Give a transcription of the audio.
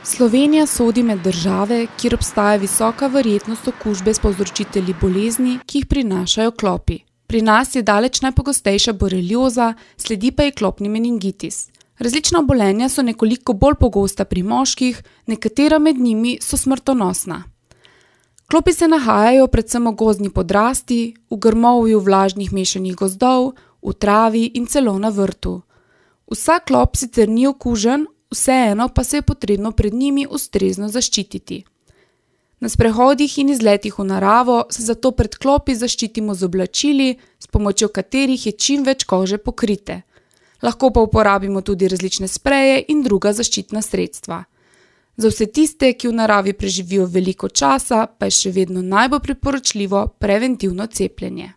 Slovenija sodi med države, kjer obstaja visoka verjetnost okužbe s povzročitelji bolezni, ki jih prinašajo klopi. Pri nas je daleč najpogostejša borelioza, sledi pa ji klopni meningitis. Različna obolenja so nekoliko bolj pogosta pri moških, nekatera med njimi so smrtonosna. Klopi se nahajajo predvsem v gozdni podrasti, v grmovju vlažnih mešanih gozdov, v travi in celo na vrtu. Vsak klop sicer ni okužen, vseeno pa se je potrebno pred njimi ustrezno zaščititi. Na sprehodih in izletih v naravo se zato pred klopi zaščitimo z oblačili, s pomočjo katerih je čim več kože pokrite. Lahko pa uporabimo tudi različne spreje in druga zaščitna sredstva. Za vse tiste, ki v naravi preživijo veliko časa, pa je še vedno najbolj priporočljivo preventivno cepljenje.